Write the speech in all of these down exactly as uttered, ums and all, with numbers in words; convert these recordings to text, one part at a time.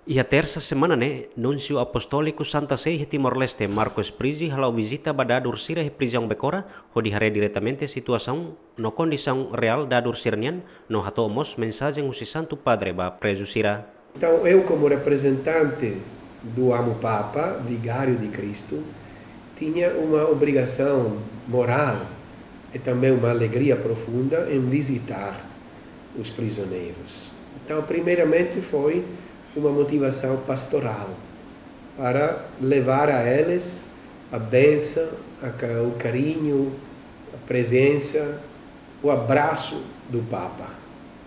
Iha tersa semana ne'e, Núnsiu Apostóliku Santa Sé iha Timor-Leste, Marco Sprizzi, hala'o vizita ba dadur sira iha prizaun Becora, hodi haree diretamente situasaun no kondisaun reál dadur sira-nian, no hato'o mós mensajen husi Santu Padre ba prezu sira. Então, eu, como representante do Amo Papa, vigário de Cristo, tinha uma obrigação moral e também uma alegria profunda em visitar os prisioneiros. Então, primeiramente, foi uma motivação pastoral para levar a eles a bênção, a ca-, o carinho, a presença, o abraço do Papa.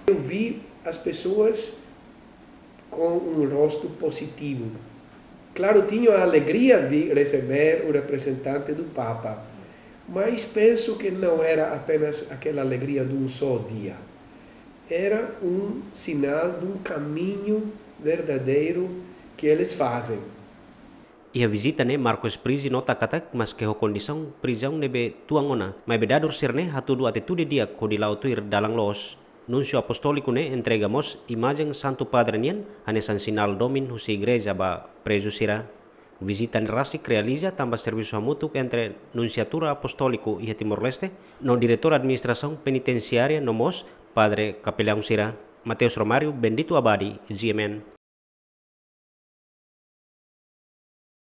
Eu vi as pessoas com um rosto positivo. Claro, tinham a alegria de receber o representante do Papa, mas penso que não era apenas aquela alegria de um só dia. Era um sinal de um caminho verdadeiro que eles fazem. Iha vizita ne'e, Marco Sprizzi nota katak, maske ho kondisaun prizaun ne'ebé tuan ona, maibé dadur sira-ne'e hatudu atitude di'ak hodi la'o tuir dalan loos. Núnsiu Apostóliku ne'e entrega mós imajen Santu Padre nian hanesan sinál domin husi Igreja ba prezu sira. Vizita ne'e rasik realiza tanba servisu hamutuk entre Nunsiatura Apostóliku iha Timor-Leste no Diretór Administrasaun Penitensiária no mós padre kapelaun sira. Mateus Romário, Bendito Abadi, G M N.